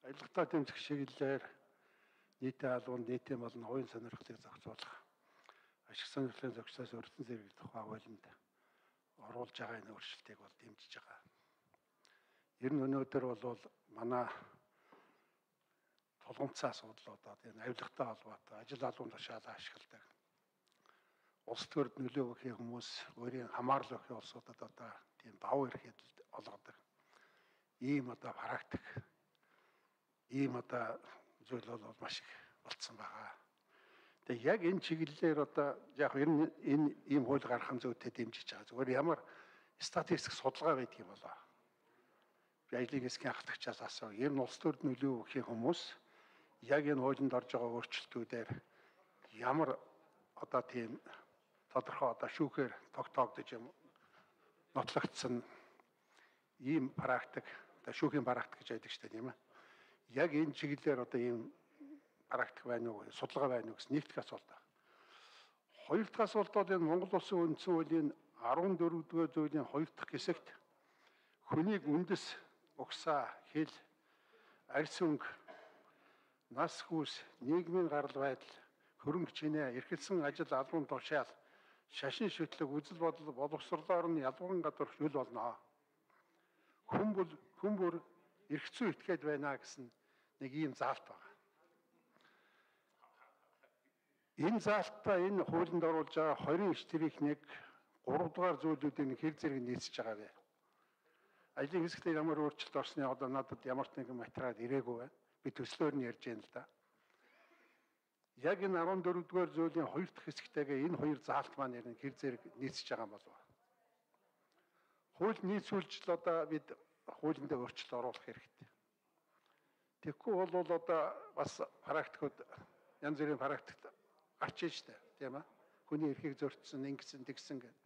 Аялалтаа дэмжих чиглэлээр нийтийн албанд нийтийн болон хувийн сонирхлыг зохицуулах ашиг сонирхлын зохицоос өртсөн зэрэг тухай хуулинд оруулж байгаа энэ өөрчлөлтийг бол дэмжиж байгаа. Ер нь өнөөдөр бол манай тулгымцсан асуудлуудад энэ авилгатай холбоотой ажил албан тушаалаа ашигладаг. Улс төрд нөлөө өгөх хүмүүс өөрийн хамаарлал өгөх улсуудад одоо тийм давуу эрхэлд олгодог. Ийм одоо практик, ийм одоо зүйл бол маш их болцсон байгаа. Тэгээ яг энэ чиглэлээр одоо яг ер нь энэ ийм хууль гаргахын зүйтэй дэмжиж байгаа. Зүгээр ямар статистик судалгаа байдаг юм болоо. Би ажлын хэсгийн ахлагчаас асуув. Ер нь улс төрд нөлөө өгөх хүмүүс яг энэ хуулинд орж байгаа өөрчлөлтүүдээр ямар одоо тийм тодорхой одоо шүүхээр тогтоогдож юм нотлогдсон ийм практик одоо шүүхийн практик гэж байдаг шүү дээ тийм ээ. Яг энэ чиглэлээр одоо ийм практик байна уу, судалгаа байна уу гэсэн нэг дэх асуулт байна. Хоёр дахь асуулт бол энэ Монгол Улсын үндсэн хуулийн 14-р зүйлийн 2 дахь хэсэгт хүнийг үндэс, угсаа, хэл, арьс өнгө, нас хүүс, нийгмийн гарал байдал, хөрөнгө чинээ, эрхэлсэн ажил албан тушаал, шашин шүтлэг, үзэл бодол боловсрлоор нь ялгуурын гадуур хөл болно. Хүн бүр эрх зүй этгээд байна гэсэн нэг ийм заалт байна. Энэ заалтаа энэ хуулинд оруулж байгаа 29-1 3 дугаар зүйлүүдийн хэр зэрэг нийцэж байгаа вэ? Ажлын хэсэгтээ ямар өөрчлөлт орсны одоо надад ямар ч нэгэн материал ирээгүй байна. Би төслөөр нь ярьж байна л да. Яг энэ 14-р зүйлийн 2 дахь хэсэгтэйгээ энэ хоёр заалт маань яг хэр зэрэг нийцэж байгаа юм болов? Хууль нийцүүлж л одоо бид хуулинд өөрчлөлт оруулах хэрэгтэй. Тэгэхгүй бол одоо бас практикууд янз бүрийн практикт гарч ийн штэ тийм ээ. Хүний эрхийг зөрчсөн, ингэсэн, тэгсэн гэдэг.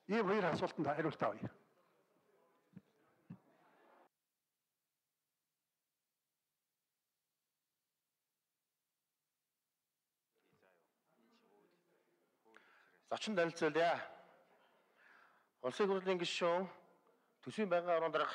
Ийм хоёр асуултанд хариулт авъя. Зочин танилцуулъя. Улсын хурлын гишүүн Төсвийн байнгын орон дарга